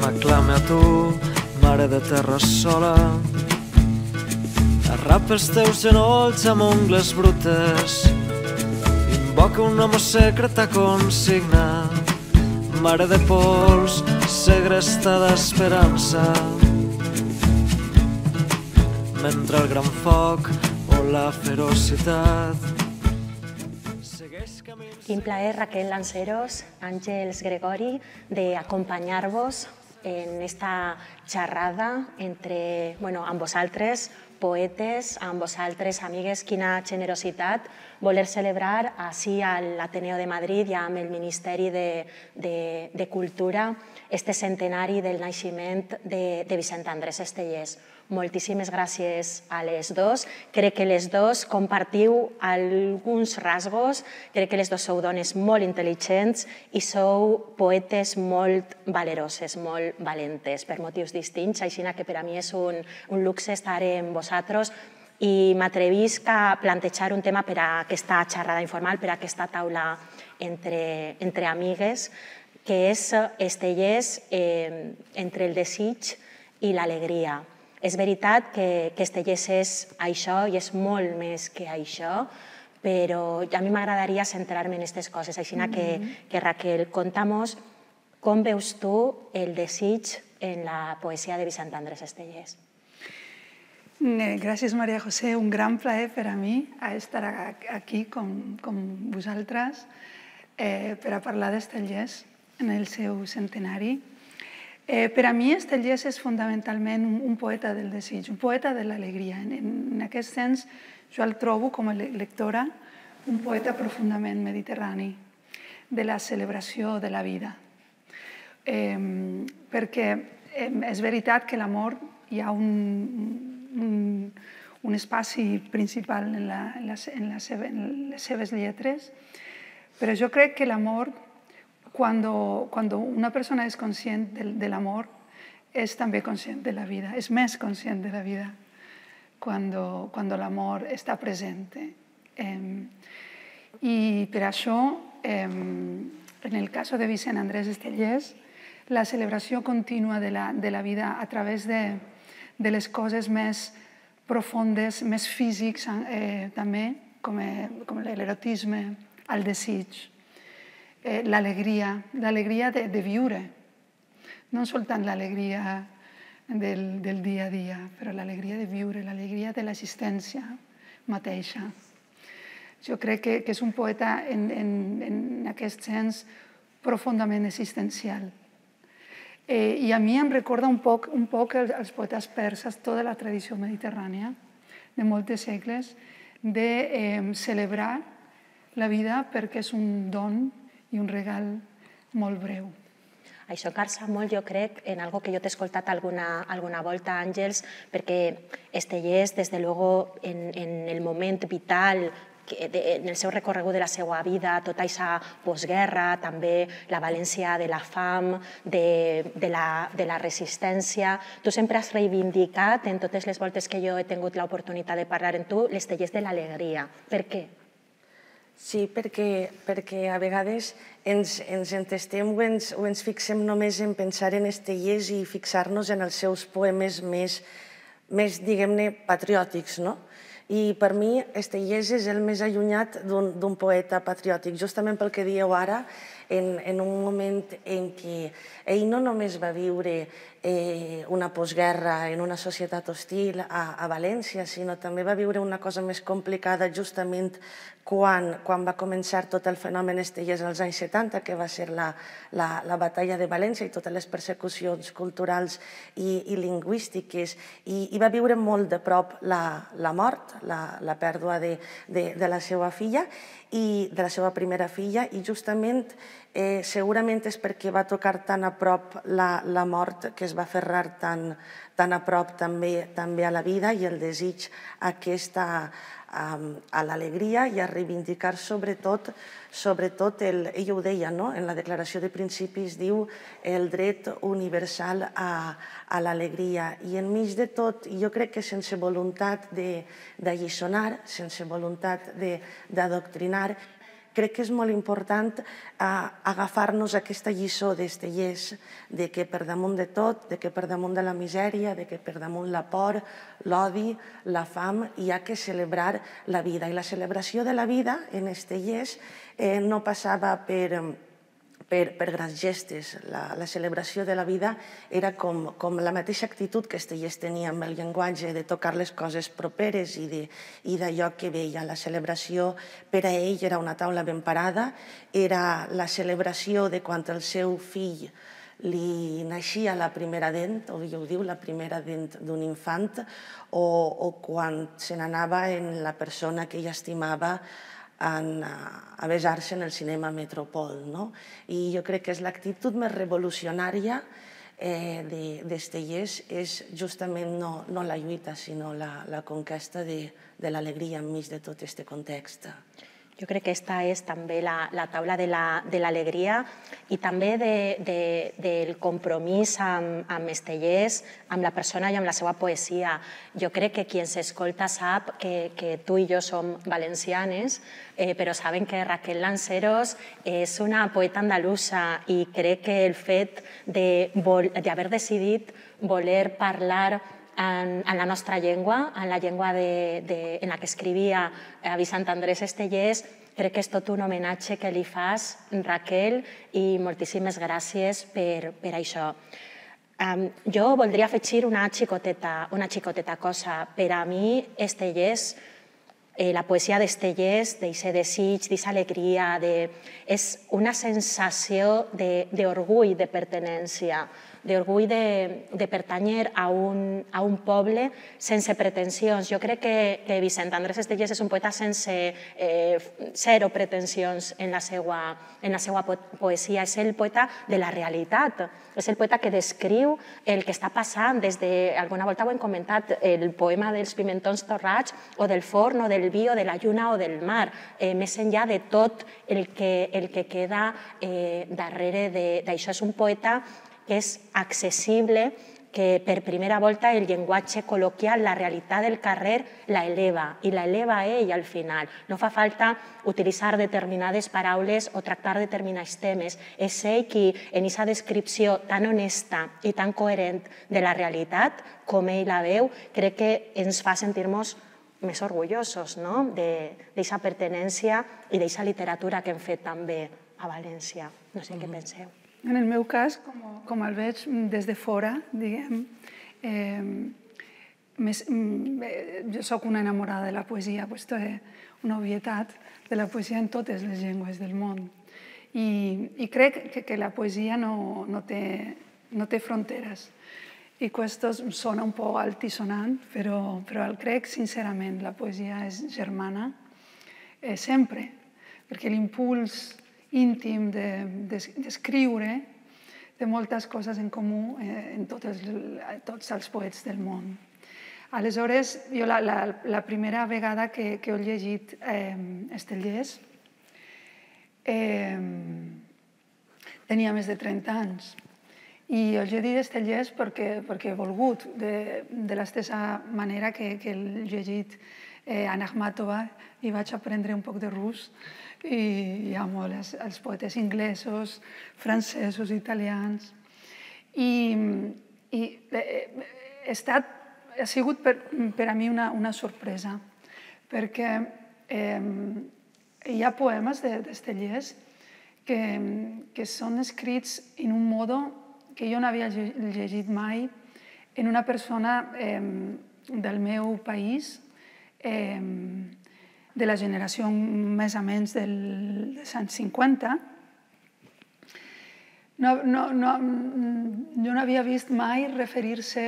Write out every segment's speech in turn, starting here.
m'aclame a tu, mare de terra sola. Arrapa els teus genolls amb ungles brutes, invoca un home secreta consigna, mare de pols, segresta d'esperança. Mentre el gran foc o la ferocitat segueix camins... Quin plaer, Raquel Lanceros, Àngels Gregori, de acompanyar-vos en esta xerrada amb vosaltres, poetes, amb vosaltres, amigues. Quina generositat voler celebrar així a l'Ateneo de Madrid i amb el Ministeri de Cultura este centenari del naixement de Vicent Andrés Estellés. Moltíssimes gràcies a les dos. Crec que les dos compartiu alguns rasgos, crec que les dos sou dones molt intel·ligents i sou poetes molt valeroses, molt valentes, per motius distints, així que per a mi és un luxe estar amb vosaltres i m'atrevisc a plantejar un tema per a aquesta xerrada informal, per a aquesta taula entre amigues, que és Estellés entre el desig i l'alegria. És veritat que Estellés és això i és molt més que això, però a mi m'agradaria centrar-me en aquestes coses. Així que Raquel, conta'm com veus tu el desig en la poesia de Vicent Andrés Estellés. Gràcies, Maria José. Un gran plaer per a mi estar aquí com vosaltres per a parlar d'Estellés en el seu centenari. Per a mi, Estellés és fonamentalment un poeta del desig, un poeta de l'alegria. En aquest sens, jo el trobo, com a lectora, un poeta profundament mediterrani, de la celebració de la vida. Perquè és veritat que l'amor hi ha un espaci principal en les seves lletres, però jo crec que l'amor, cuando una persona es consciente del amor, es también consciente de la vida, es más consciente de la vida cuando l'amor està present. I per això, en el cas de Vicent Andrés Estellés, la celebració contínua de la vida a través de les coses més profundes, més físics també, com l'erotisme, el desig, l'alegria de viure, no soltant l'alegria del dia a dia, però l'alegria de viure, l'alegria de l'existència mateixa. Jo crec que és un poeta en aquest sens profundament existencial. I a mi em recorda un poc els poetes perses, tota la tradició mediterrània de molts segles, de celebrar la vida perquè és un don i un regal molt breu. Això calça molt, jo crec, en algo que jo t'he escoltat alguna volta, Àngels, perquè Estellés, des de luego, en el moment vital, en el seu recorregut de la seva vida, tota aquesta postguerra, també la valència de la fam, de la resistència. Tu sempre has reivindicat, en totes les voltes que jo he tingut l'oportunitat de parlar amb tu, l'Estellés de l'alegria. Per què? Sí, perquè a vegades ens entestem o ens fixem només en pensar en Estellés i fixar-nos en els seus poemes més, diguem-ne, patriòtics, no? I per mi Estellés és el més allunyat d'un poeta patriòtic, justament pel que dieu ara, en un moment en què ell no només va viure una postguerra en una societat hostil a València, sinó també va viure una cosa més complicada justament quan va començar tot el fenomen Estellés als anys 70, que va ser la batalla de València i totes les persecucions culturals i lingüístiques, i va viure molt de prop la mort, la pèrdua de la seva filla, i de la seva primera filla, i justament segurament és perquè va tocar tan a prop la mort que es va aferrar tan a prop també a la vida i el desig a l'alegria i a reivindicar sobretot, ell ho deia, en la declaració de principis diu el dret universal a l'alegria. I enmig de tot, jo crec que sense voluntat d'alliçonar, sense voluntat d'adoctrinar, crec que és molt important agafar-nos aquesta lliçó d'Estellés, de que per damunt de tot, de que per damunt de la misèria, de que per damunt la por, l'odi, la fam, hi ha que celebrar la vida. I la celebració de la vida en Estellés no passava per grans gestes. La celebració de la vida era com la mateixa actitud que Estellés tenia amb el llenguatge, de tocar les coses properes i d'allò que veia. La celebració per a ell era una taula ben parada, era la celebració de quan el seu fill li naixia la primera dent, o ell ho diu, la primera dent d'un infant, o quan se n'anava en la persona que ell estimava a besar-se en el cinema Metropol. I jo crec que és l'actitud més revolucionària d'Estellés, és justament no la lluita, sinó la conquesta de l'alegria enmig de tot aquest context. Jo crec que aquesta és també la taula de l'alegria i també del compromís amb Estellés, amb la persona i amb la seva poesia. Jo crec que qui ens escolta sap que tu i jo som valencianes, però saben que Raquel Lanceros és una poeta andalusa i crec que el fet d'haver decidit voler parlar en la nostra llengua, en la llengua en la que escrivia Vicent Andrés Estellés, crec que és tot un homenatge que li fas, Raquel, i moltíssimes gràcies per això. Jo voldria afegir una xicoteta cosa. Per a mi, Estellés, la poesia d'Estellés, d'aquest desig, d'aquesta alegria, és una sensació d'orgull de pertinença, d'orgull de pertànyer a un poble sense pretensions. Jo crec que Vicent Andrés Estellés és un poeta sense zero pretensions en la seva poesia. És el poeta de la realitat, és el poeta que descriu el que està passant des de, alguna volta ho hem comentat, el poema dels pimentons torrats o del forn o del vi o de la lluna o del mar, més enllà de tot el que queda darrere d'això. És un poeta que és accessible, que per primera volta el llenguatge col·loquial, la realitat del carrer, la eleva, i la eleva ell al final. No fa falta utilitzar determinades paraules o tractar determinats temes. És ell qui, en aquesta descripció tan honesta i tan coherent de la realitat, com ell la veu, crec que ens fa sentir-nos més orgullosos d'aquesta pertinença i d'aquesta literatura que hem fet també a València. No sé què penseu. En el meu cas, com el veig des de fora, diguem, jo soc una enamorada de la poesia, aquesta és una obvietat, de la poesia en totes les llengües del món. I crec que la poesia no té fronteres. I questo sona un po' altisonant, però crec sincerament la poesia és germana sempre, perquè l'impuls íntim d'escriure té moltes coses en comú en tots els poets del món. Aleshores, jo la primera vegada que he llegit Estellés tenia més de 30 anys. I he llegit Estellés perquè he volgut, de la mateixa manera que he llegit Anna Akhmatova i vaig aprendre un poc de rus i amo els poetes inglesos, francesos, italians. I ha sigut per a mi una sorpresa, perquè hi ha poemes d'Estellés que són escrits en un modo que jo no havia llegit mai en una persona del meu país, de la generació més o menys dels anys 50. Jo no havia vist mai referir-se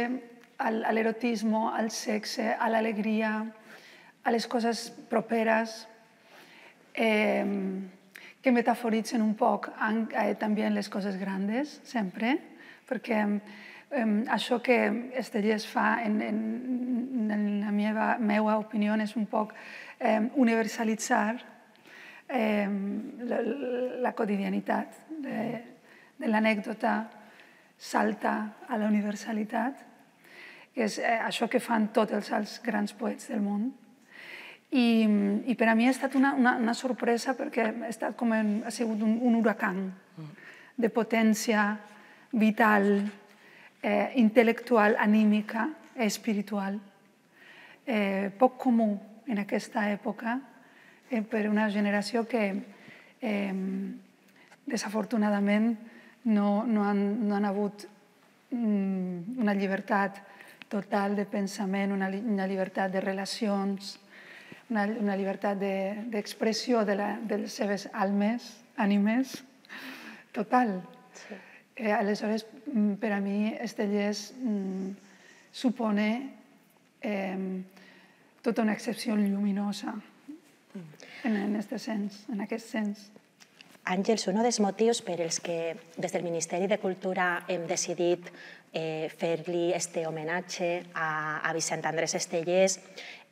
a l'erotisme, al sexe, a l'alegria, a les coses properes, que metaforitzen un poc també en les coses grandes, sempre, perquè això que Estellés fa, en la meva opinió, és un poc universalitzar la quotidianitat de l'anècdota, salta a la universalitat, que és això que fan tots els grans poets del món. I per a mi ha estat una sorpresa perquè ha sigut un huracan de potència vital, intel·lectual, anímica, espiritual. Poc comú en aquesta època per una generació que desafortunadament no han hagut una llibertat total de pensament, una llibertat de relacions, una llibertat d'expressió de les seves ànimes, total. Aleshores, per a mi, Estellés supone tota una excepció lluminosa en aquest sens. Àngels, un dels motius per als que des del Ministeri de Cultura hem decidit fer-li este homenatge a Vicent Andrés Estellés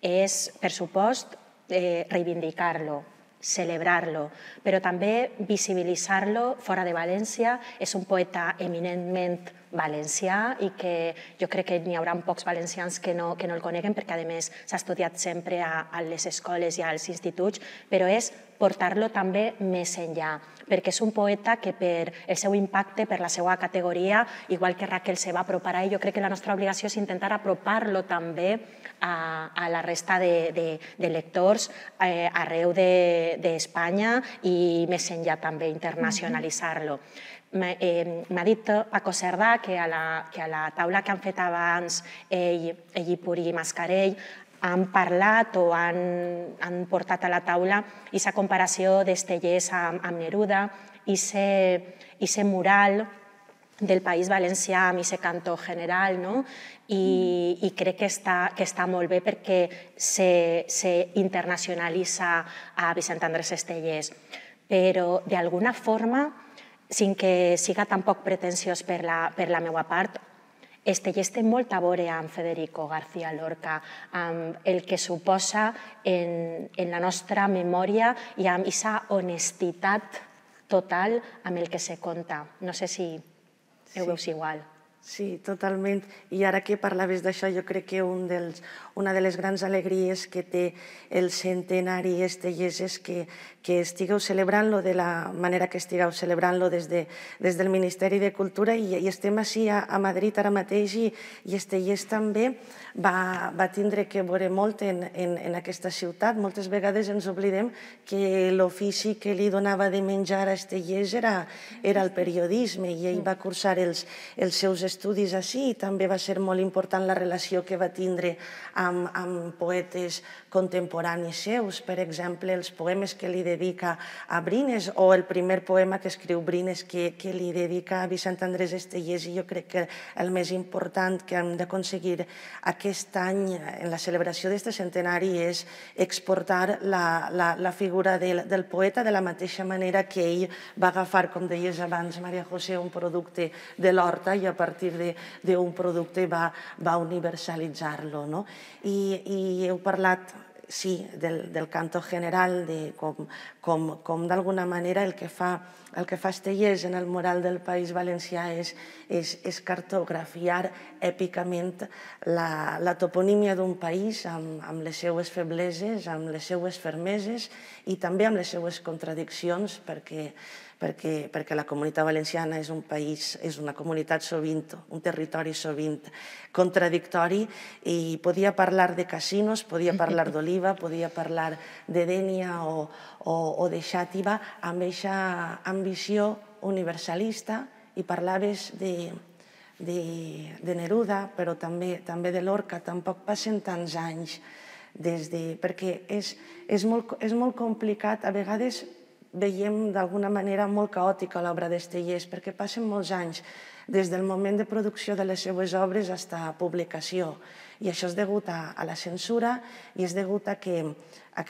és, per supost, reivindicar-lo, celebrar-lo, però també visibilitzar-lo fora de València. És un poeta eminentment valencià i que jo crec que n'hi haurà pocs valencians que no el coneguen perquè, a més, s'ha estudiat sempre a les escoles i als instituts, però és portar-lo també més enllà, perquè és un poeta que per el seu impacte, per la seva categoria, igual que Raquel se va apropar a ell, jo crec que la nostra obligació és intentar apropar-lo també a la resta de lectors arreu d'Espanya i més enllà també, internacionalitzar-lo. M'ha dit Paco Cerdà que a la taula que han fet abans ell i Puri Mascarell han parlat o han portat a la taula aquesta comparació d'Estellés amb Neruda, aquest mural del País Valencià amb aquest cantó general, i crec que està molt bé perquè s'internacionalitza a Vicent Andrés Estellés. Però, d'alguna forma, sin que siga tampoc pretensiós per la meva part, Estellés té molt a veure amb Federico García Lorca, amb el que suposa en la nostra memòria i amb aquesta honestitat total amb el que se conta. No sé si ho veus igual. Sí, totalment. I ara que parlaves d'això, jo crec que una de les grans alegries que té el centenari Estellés és que estigueu celebrant-lo de la manera que estigueu celebrant-lo des del Ministeri de Cultura i estem així a Madrid ara mateix i Estellés també va tindre que veure molt en aquesta ciutat. Moltes vegades ens oblidem que l'ofici que li donava de menjar a Estellés era el periodisme i ell va cursar els seus estudis així i també va ser molt important la relació que va tindre amb poetes contemporanis seus. Per exemple, els poemes que li dedica a Brines o el primer poema que escriu Brines que li dedica a Vicent Andrés Estellés, i jo crec que el més important que hem d'aconseguir aquest any en la celebració d'aquest centenari és exportar la figura del poeta de la mateixa manera que ell va agafar, com deies abans, Maria José, un producte de l'horta i a partir d'un producte va universalitzar-lo. I heu parlat, sí, del canto general, de com d'alguna manera el que fa Estellés en el mural del País Valencià és cartografiar èpicament la toponímia d'un país amb les seues febleses, amb les seues fermeses i també amb les seues contradiccions, perquè la Comunitat Valenciana és un país, és una comunitat sovint, un territori sovint contradictori, i podia parlar de casinos, podia parlar d'Oliva, podia parlar de Dénia o de Xàtiva amb aquesta ambició universalista, i parlaves de Neruda, però també de Lorca. Tampoc passen tants anys perquè és molt complicat, a vegades veiem d'alguna manera molt caòtica l'obra d'Estellés, perquè passen molts anys des del moment de producció de les seues obres fins a publicació. I això és degut a la censura i és degut a que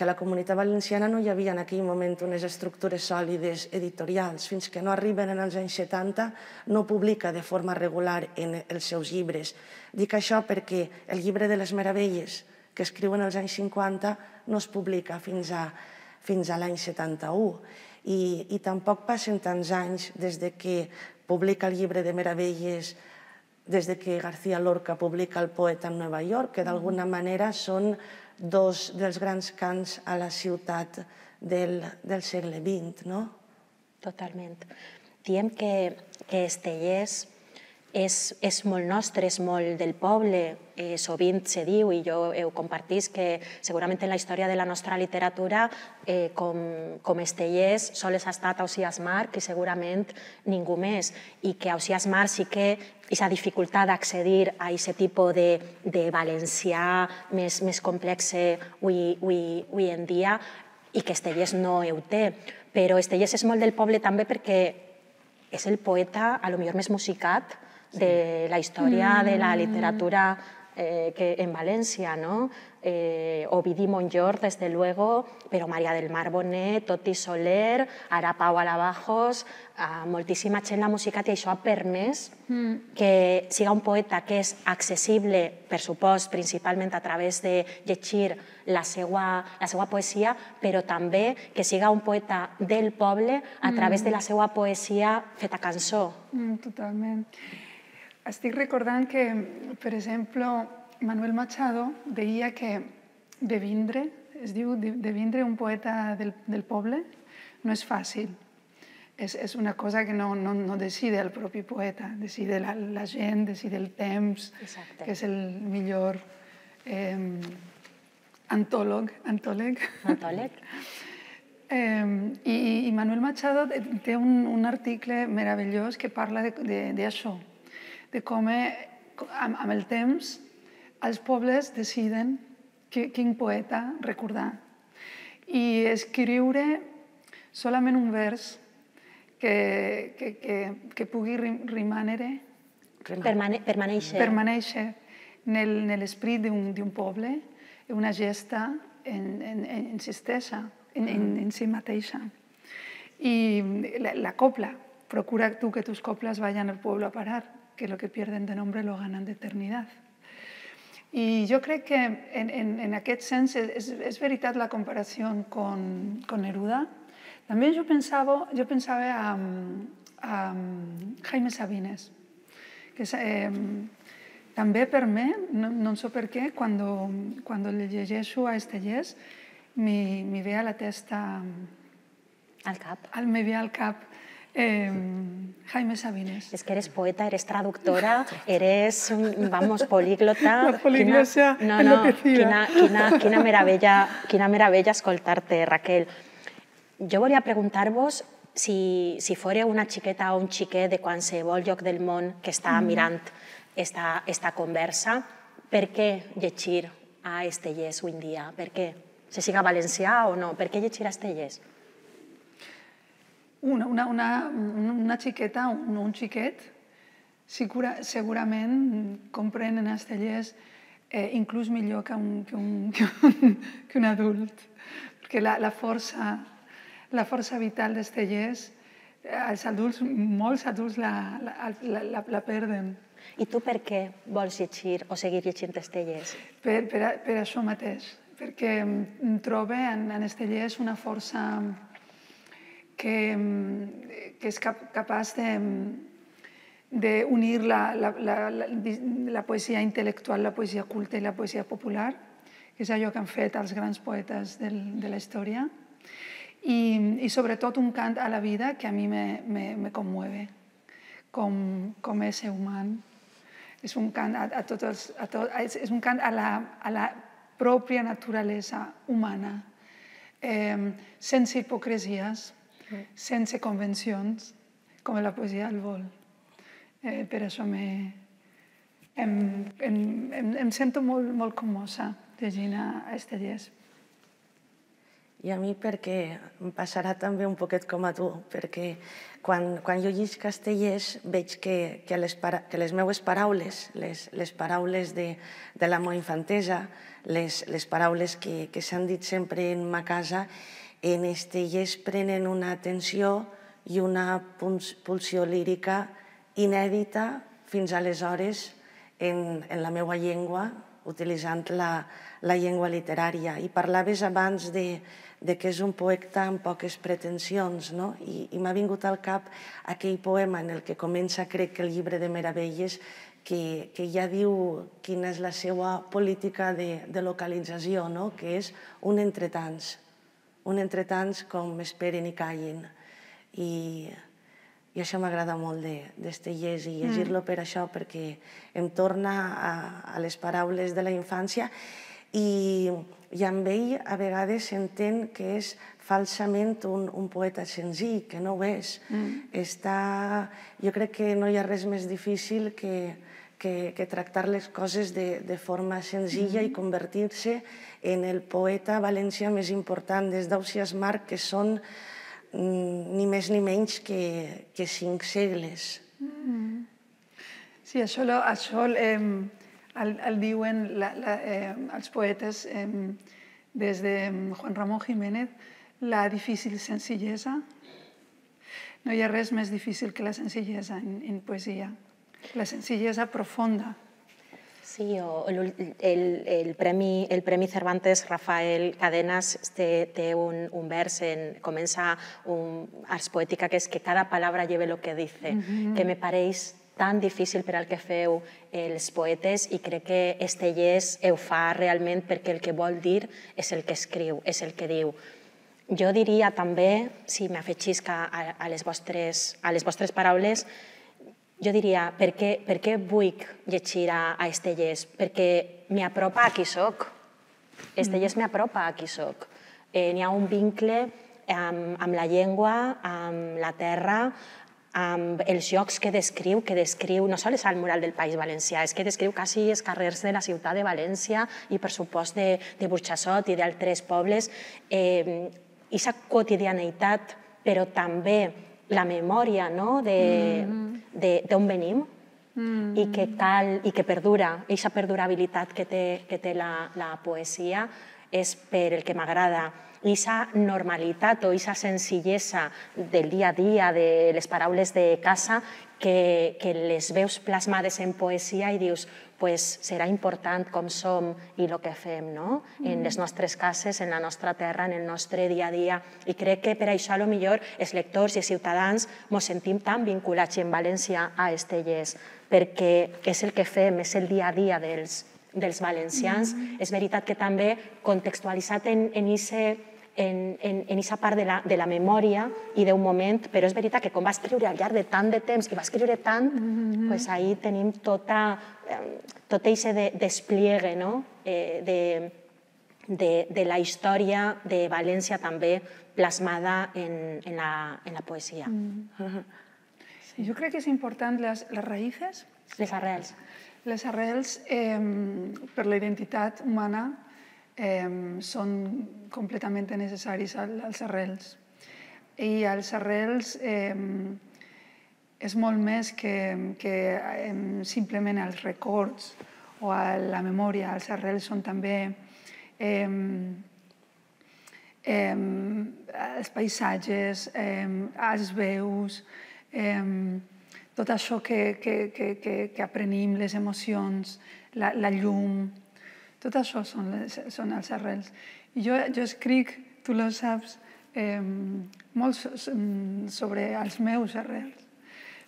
la Comunitat Valenciana no hi havia en aquell moment unes estructures sòlides editorials. Fins que no arriben en els anys 70 no publica de forma regular en els seus llibres. Dic això perquè el llibre de les Meravelles, que escriuen als anys 50, no es publica fins a l'any 71. I tampoc passen tants anys des que publica el llibre de Meravelles des que García Lorca publica El poeta en Nova York, que d'alguna manera són dos dels grans cants a la ciutat del segle XX, no? Totalment. Diem que Estellés és molt nostre, és molt del poble. Sovint se diu, i jo ho compartisc, que segurament en la història de la nostra literatura com Estellés sols ha estat Ausiàs March i segurament ningú més, i que Ausiàs March sí que aquesta dificultat d'accedir a aquest tipus de valencià més complex avui en dia, i que Estellés no ho té. Però Estellés és molt del poble també perquè és el poeta potser més musicat de la història de la literatura en València, no? Ovidi Montllor, desde luego, però Maria del Mar Bonet, Toti Soler, ara Pau Alabajos, moltíssima gent l'ha musicat, i això ha permès que siga un poeta que és accessible, per supost, principalment a través de llegir la seva poesia, però també que siga un poeta del poble a través de la seva poesia feta cançó. Totalment. Estic recordant que, per exemple, Manuel Machado deia que devindre, es diu devindre un poeta del poble, no és fàcil. És una cosa que no decide el propi poeta, decide la gent, decide el temps, que és el millor antòleg. I Manuel Machado té un article meravellós que parla d'això, de com amb el temps els pobles deciden quin poeta recordar. I escriure solament un vers que pugui permanèixer en l'esprit d'un poble, una gesta en si mateixa. I la copla, procura tú que tus coplas vayan al pueblo a parar, que lo que pierden de nombre lo ganan de eternidad. I jo crec que en aquest sens és veritat la comparació con Neruda. També jo pensava a Jaime Sabines, que també per mi, no sé per què, quan le llegeixo a Estellés, me ve a la testa... Al cap. Me ve al cap Jaime Sabines. És que eres poeta, eres traductora, eres, políglota. La poliglota enloquecida. Quina meravella escoltar-te, Raquel. Jo volia preguntar-vos si fóreu una xiqueta o un xiquet de qualsevol lloc del món que està mirant esta conversa, per què llegir a Estellés avui en dia? Per què? Se siga valencià o no? Per què llegir a Estellés? Una xiqueta o un xiquet segurament comprenen Estellés inclús millor que un adult, perquè la força vital d'Estellés, molts adults la perden. I tu per què vols llegir o seguir llegint Estellés? Per això mateix, perquè trobo en Estellés una força que és capaç d'unir la poesia intel·lectual, la poesia culta i la poesia popular, que és allò que han fet els grans poetes de la història, i sobretot un cant a la vida que a mi me conmueve com ésser humà. És un cant és un cant a la pròpia naturalesa humana, sense hipocresies, sense convencions, com la poesia el vol. Per això em sento molt commosa llegint a Estellés. I a mi perquè em passarà també un poquet com a tu, perquè quan jo llisc Estellés veig que les meues paraules, les paraules de la meva infantesa, les paraules que s'han dit sempre en ma casa, en Estellés prenen una atenció i una pulsió lírica inèdita fins aleshores en la meva llengua utilitzant la llengua literària. I parlaves abans de que és un poeta amb poques pretensions, no? I m'ha vingut al cap aquell poema en el que comença, crec que el llibre de Meravelles, que ja diu quina és la seva política de localització, no? Que és un entretants com esperen i callin. I això m'agrada molt d'Estellés i llegir-lo per això, perquè em torna a les paraules de la infància i amb ell a vegades s'entén que és falsament un poeta senzill, que no ho és. Jo crec que no hi ha res més difícil que tractar les coses de forma senzilla i convertir-se en el poeta valencià més important des d'Ausiàs Marc, que són ni més ni menys que 5 segles. Sí, això el diuen els poetes des de Juan Ramón Jiménez, la difícil senzillesa. No hi ha res més difícil que la senzillesa en poesia, la senzillesa profunda. Sí, el Premi Cervantes Rafael Cadenas té un vers, comença ars poètica, que és que cada palabra lleve lo que dice, que me pareix tan difícil per al que feu els poetes i crec que Estellés ho fa realment perquè el que vol dir és el que escriu, és el que diu. Jo diria també, si m'afegís a les vostres paraules, jo diria, per què vull llegir a Estellés? Perquè m'apropa a qui soc. Estellés m'apropa a qui soc. N'hi ha un vincle amb la llengua, amb la terra, amb els llocs que descriu no sols al mural del País Valencià, és que descriu quasi els carrers de la ciutat de València i, per supost, de Burxassot i d'altres pobles. Aquesta quotidianitat, però també la memòria d'on venim i que perdura, aquesta perdurabilitat que té la poesia és per el que m'agrada. Aquesta normalitat o aquesta senzillesa del dia a dia, de les paraules de casa, que les veus plasmades en poesia i dius, serà important com som i el que fem en les nostres cases, en la nostra terra, en el nostre dia a dia. I crec que per això, potser, els lectors i els ciutadans ens sentim tan vinculats en València a Estellés, perquè és el que fem, és el dia a dia dels valencians. És veritat que també contextualitzat en aquesta part de la memòria i d'un moment, però és veritat que com va escriure al llarg de tant de temps i va escriure tant, ahí tenim tot aquest despliegue de la història de València també plasmada en la poesia. Jo crec que és important les raïces. Les arrels. Les arrels, per la identitat humana, són completament necessaris als arrels. I els arrels és molt més que simplement els records o la memòria. Els arrels són també els paisatges, els veus, tot això que aprenim, les emocions, la llum. Tot això són els arrels. I jo escric, tu ho saps, molt sobre els meus arrels,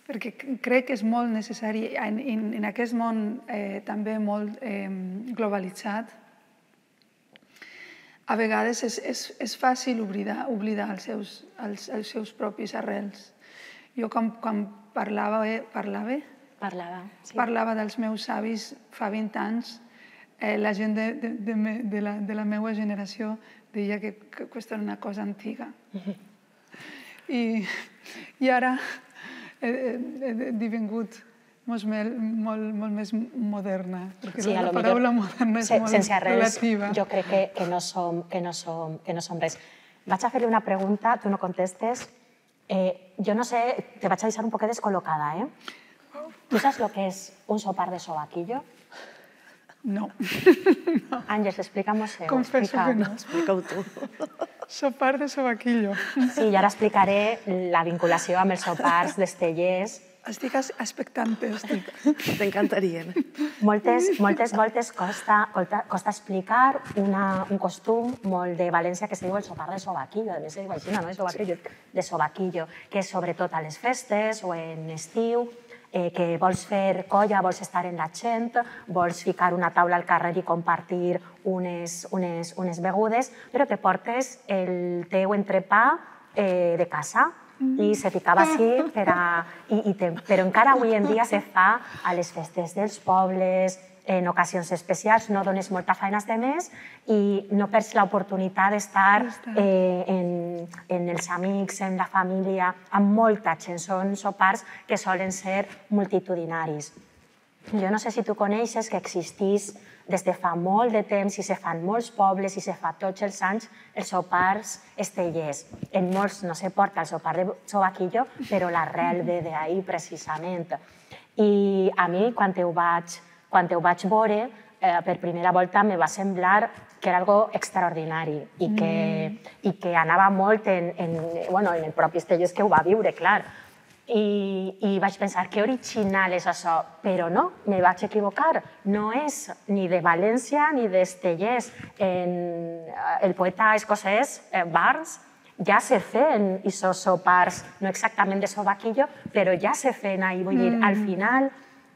perquè crec que és molt necessari, en aquest món també molt globalitzat, a vegades és fàcil oblidar els seus propis arrels. Jo quan parlava dels meus avis fa 20 anys, la gent de la meva generació deia que aquesta era una cosa antiga. I ara he devingut molt més moderna, perquè la paraula moderna és molt relativa. Jo crec que no som res. Vaig a fer-li una pregunta, tu no contestes. Jo no sé, te vaig a deixar un poquet descol·locada, Tu saps el que és un sopar de sobaquillo? No. Àngels, explica-m'ho. Confesso que no. Explica-ho tu. Sopar de sobaquillo. Sí, i ara explicaré la vinculació amb els sopars d'Estellés Estic expectante, estic. T'encantarien. Moltes voltes costa explicar un costum molt de València que se diu el sopar de sobaquillo, a més es diu així, no? De sobaquillo, que és sobretot a les festes o en estiu, que vols fer colla, vols estar en la gent, vols ficar una taula al carrer i compartir unes begudes, però te portes el teu entrepà de casa i se ficava així, però encara avui en dia se fa a les festes dels pobles, en ocasions especials, no dones molta feina als demés i no perds l'oportunitat d'estar en els amics, en la família, amb molta gent. Són sopars que solen ser multitudinaris. Jo no sé si tu coneixes que existís des de fa molt de temps i se fan molts pobles i se fa tots els anys els sopars estellers. En molts no se porta el sopar de sobaquillo, però l'arrel ve d'ahir precisament. I a mi, quan ho vaig veure, per primera volta me va semblar que era algo extraordinari i que anava molt en el propi Estellés que ho va viure, clar. I vaig pensar, que original és això, però no, me vaig equivocar. No és ni de València ni d'Estellés. El poeta escocès, Burns, ja se feien aquests sopars, no exactament de sobaquillo, però ja se feien ahir. Vull dir, al final,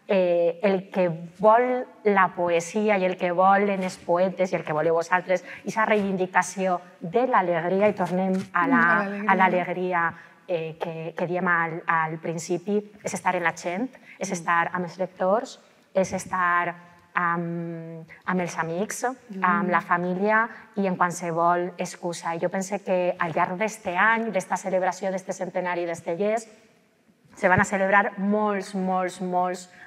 el que vol la poesia i el que volen els poetes i el que voleu vosaltres, aquesta reivindicació de l'alegria, i tornem a l'alegria que diem al principi, és estar en la gent, és estar amb els lectors, és estar amb els amics, amb la família i en qualsevol excusa. Jo penso que al llarg d'aquest any, d'esta celebració d'este centenari d'Estellés, se van a celebrar molts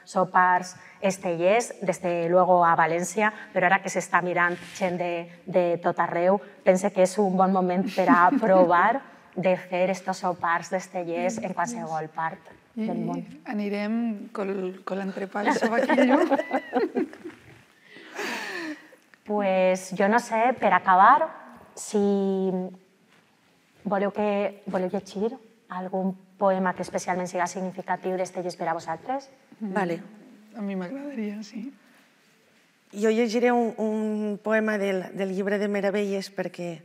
sopars estellers, desde luego a València, però ara que s'està mirant gent de tot arreu, pense que és un bon moment per a provar de fer estos sopars d'estellers en qualsevol part del món. Anirem con l'entrepà de sobaquillo. Pues jo no sé, per acabar, si voleu llegir algun poema que especialment siga significatiu d'Estellés per a vosaltres? Vale. A mi m'agradaria, sí. Jo llegiré un poema del llibre de Meravelles perquè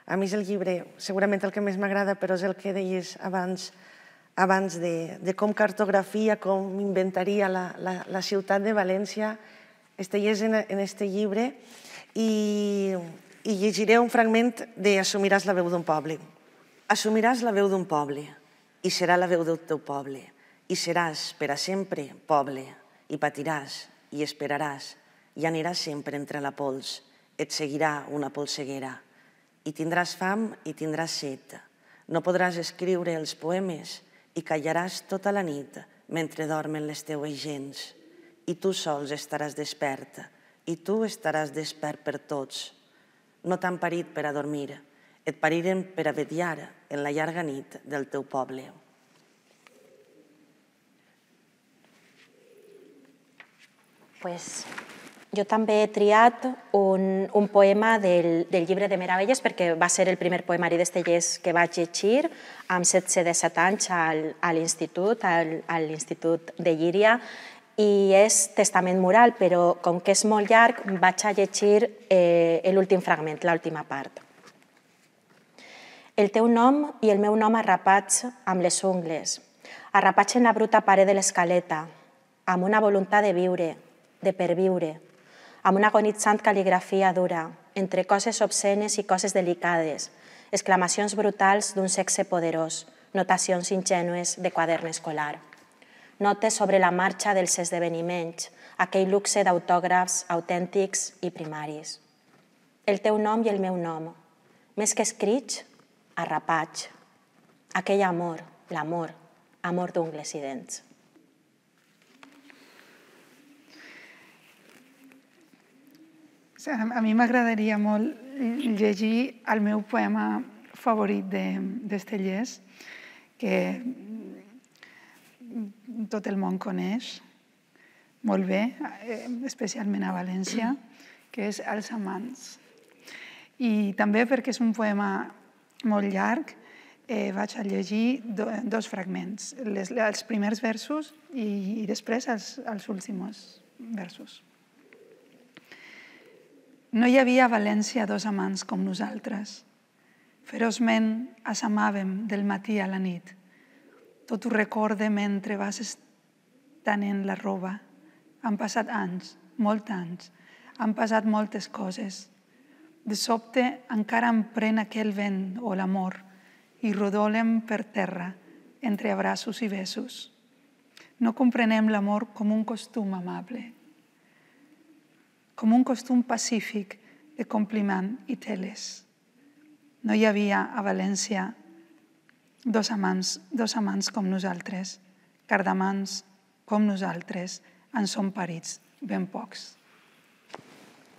a mi és el llibre, segurament el que més m'agrada, però és el que deies abans de com cartografia, com inventaria la ciutat de València. Estellés en este llibre i llegiré un fragment de Assumiràs la veu d'un poble. Assumiràs la veu d'un poble i serà la veu del teu poble i seràs per a sempre poble i patiràs i esperaràs i aniràs sempre entre la pols. Et seguirà una polseguera i tindràs fam i tindràs set. No podràs escriure els poemes i callaràs tota la nit mentre dormen les teues gens. I tu sols estaràs despert i tu estaràs despert per tots. No t'han parit per a dormir, et pariren per a vetllar en la llarga nit del teu poble. Pues jo també he triat un poema del llibre de Meravelles perquè va ser el primer poemari d'Estellés que vaig llegir amb 17 anys a l'Institut de Llíria i és Testament Mural, però com que és molt llarg vaig a llegir l'últim fragment, l'última part. El teu nom i el meu nom arrapats amb les ungles, arrapats en la bruta paret de l'escaleta, amb una voluntat de viure, de perviure, amb una agonitzant cal·ligrafia dura, entre coses obscenes i coses delicades, exclamacions brutals d'un sexe poderós, notacions ingènues de quadern escolar. Notes sobre la marxa dels esdeveniments, aquell luxe d'autògrafs autèntics i primaris. El teu nom i el meu nom, més que escrits, arrapats. Aquell amor, l'amor, amor d'ungles i dents. A mi m'agradaria molt llegir el meu poema favorit d'Estellés, que tot el món coneix molt bé, especialment a València, que és Els amants. I també perquè és un poema molt llarg, vaig a llegir dos fragments, els primers versos i després els últims versos. No hi havia a València dos amants com nosaltres. Feroçment ens amàvem del matí a la nit. Tot ho recorde mentre vas estenent la roba. Han passat anys, molts anys. Han passat moltes coses. De sobte encara em pren aquell vent o l'amor i rodolem per terra entre abraços i besos. No comprenem l'amor com un costum amable, com un costum pacífic de compliment i teles. No hi havia a València dos amants com nosaltres, cardamans com nosaltres, en som parits ben pocs.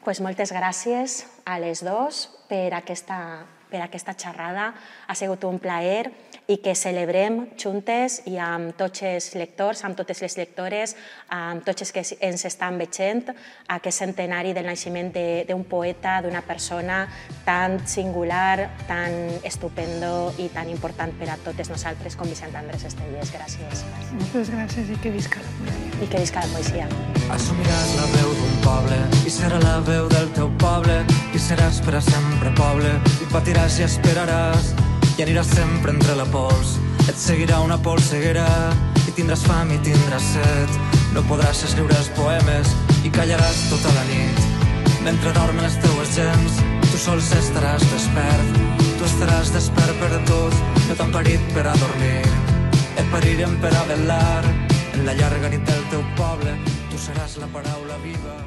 Pues moltes gràcies a les dos per aquesta xerrada. Ha sigut un plaer i que celebrem juntes i amb tots els lectors, amb totes les lectores, amb tots els que ens estan veient, aquest centenari del naixement d'un poeta, d'una persona tan singular, tan estupendo i tan important per a totes nosaltres com Vicent Andrés Estellés. Gràcies. Moltes gràcies i que visca la poesia. I que visca la poesia. Assumiràs la veu d'un poble i serà la veu del teu poble i seràs per a sempre poble i patiràs i esperaràs i aniràs sempre entre la pols. Et seguirà una polseguera i tindràs fam i tindràs set. No podràs escriure els poemes i callaràs tota la nit. Mentre dormen les teues gens, tu sols estaràs despert. Tu estaràs despert per a tot, no t'han parit per a dormir. Et parirem per a velar en la llarga nit del teu poble. Tu seràs la paraula viva.